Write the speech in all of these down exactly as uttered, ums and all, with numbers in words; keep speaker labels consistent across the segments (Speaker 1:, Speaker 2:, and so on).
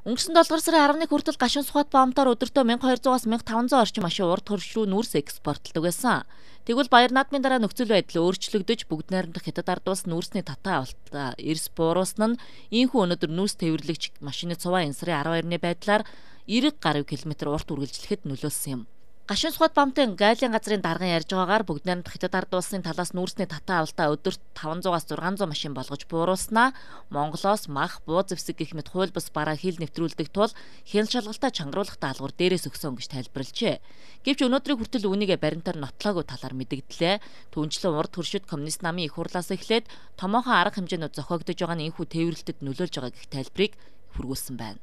Speaker 1: Өнгөрсөн долдугаар сарын арваны хүртэл гашуун сухат баамтаар өдөртөө мянга и двухаас мянга и таван зуун орчим машин урд хөрш рүү нүүрс экспортлдог байсан. Тэгвэл баяр наадмын дараа нөхцөл байдал өөрчлөгдөж бүгд найрамдах хятад ард улс нүүрсний татаа авалтаа эрс бууруулсан нь ийхүү өнөөдөр нүүрс тээвэрлэгч машины цуваа янсрын арван хоёрны байдлаар эрэг гаруй километр урт үргэлжлэхэд нөлөөлсөн юм. Гашуун сухат баамтын гайлын газрын дарган ярьж байгаагаар бүгд найрамдах хятад ард улсын талаас нүүрсний татаа авалтаа өдөрт таван зуунаас зургаан зуун машин болгож бууруулснаа Монголоос мах, буу зэвсэг гэх мэт хууль бус бараа хил нэвтрүүлдэг тул хяналт шалгалтаа чангаруулах даалгавар дээрээс өгсөн гэж тайлбарлажээ. Гэвч өнөөдрийн хүртэл үүнийг баримтаар нотлоогүй талаар мэдэгдлээ. Түүнчлэн урд хөршид коммунист намын их хурлаас эхлээд томоохон арга хэмжээнүүд зохиогдож байгаа нь энэхүү тээвэрлэлтэд нөлөөлж байгаа гэх тайлбарыг хүргүүлсэн байна.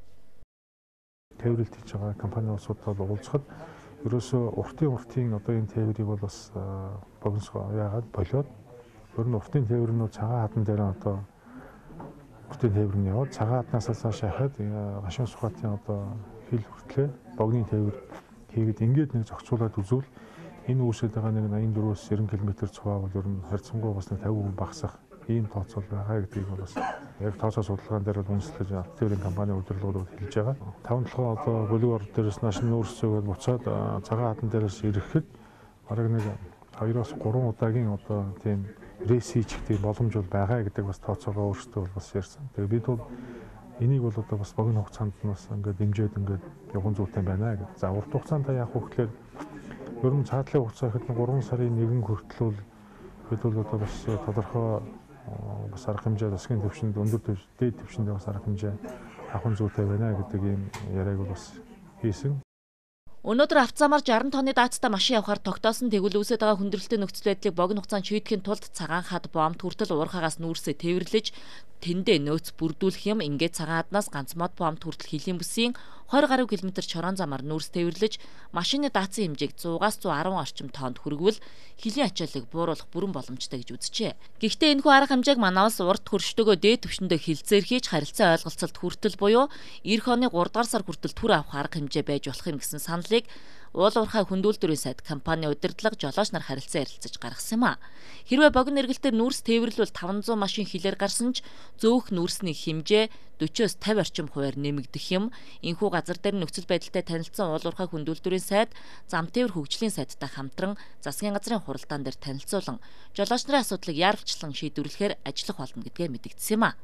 Speaker 2: Тээвэрлэлт хийж байгаа компани улсуудад уулзахад ерөөсөө уртын уртын одоо энэ тээврийг бол бас богиносгоо яагаад болоод ер нь уртын тээврнүүд цагаан хатан дээр одоо уртын тээвэр нь яваад цагаан хатнаас цааш хахад гашуун сухатын одоо хил хүртлээ богны тээвэр хийгээд ингээд нэг зохицуулаад үзвэл энэ үүсэж байгаа нэг найман дөрвөөс девяносто км цуваа бол ер нь харьцангуй бас нэг пятьдесят хүн багасах ийм тооцоол байгаа гэдгийг бол бас яг тооцоо судалгаан дээр бол үндэслэж тээврийн компани удирдлагууд хэлж байгаа. таван толгой одоо бүлэг орд дээрээс нааш нүүрс зөөгөл буцаад цагаан хатан дээрээс ирэхэд бараг нэг хоёроос гурван удаагийн одоо тийм рейс хийх тийм боломж бол байгаа гэдэг бас тооцоогоо өөрсдөө бол бас ярьсан. Тэгээ бид бол энийг бол одоо бас богино хугацаанд нь бас ингээд дэмжиж ингээд явган зүйтэй байна гэдэг. За урт хугацаанд яах вэ гэхээр ер нь цаадлын хугацаа ихэд гурван сарын нэгэн хүртэл бид бол одоо бас тодорхой бас арга хэмжээ засгийн түвшинд өндөр дээд түвшинд бас арга хэмжээ авах зүйтэй байна гэдэг ийм яриаг бас хийсэн.
Speaker 1: Өнөөдөр автозамаар шаран тонны даацтай машин явахаар тогтоосон тэгвэл үүсэж байгаа хүндрэлтэй нөхцөл байдлыг богино хугацаанд шийдэхин тулд цагаан хад бомб хүртэл уурхаагаас нүүрсээ тээвэрлэж тэндээ нөөц бүрдүүлэх юм. Ингээд цагаан хаднаас ганц мод бомб хүртэл хилийн бүсийн двадцать гаруй километр чорон замаар нүүрс тээвэрлэж машины даацын хэмжээг цуугаас цуу арван орчим тоннд хүргвэл хилийн ачааллыг бууруулах бүрэн боломжтой гэж үзжээ. Гэхдээ энэхүү арга хэмжээг манаас урт хөрштөгөө дээд түвшиндээ хилцээр хийж харилцаа ойлголцолд хүртэл буюу эх оны гурав дугаар сар хүртэл түр авах арга хэмжээ байж болох юм гэсэн саналыг уул уурхай хөндүүлдвэрийн сайд компани удирдлага жолооч нар харилцан ярилцаж гаргасан юм а. Хэрвээ богино эргэлтээр нүүрс тээвэрлвэл таван зуун машин хилээр гарсан ч зөөх нүүрсний хэмжээ forty-с fifty орчим хувиар нэмэгдэх юм. Энэхүү газар дээр нөхцөл байдалтай танилцсан уул уурхай хөндүүлдвэрийн сайд, зам тээвэр хөгжлийн сайдтай хамтран засгийн газрын хуралдаан дээр танилцуулан жолооч нарын асуудлыг яарвчлан шийдвэрлэхээр ажиллах болно гэдгээ мэдэгдсэн юм а.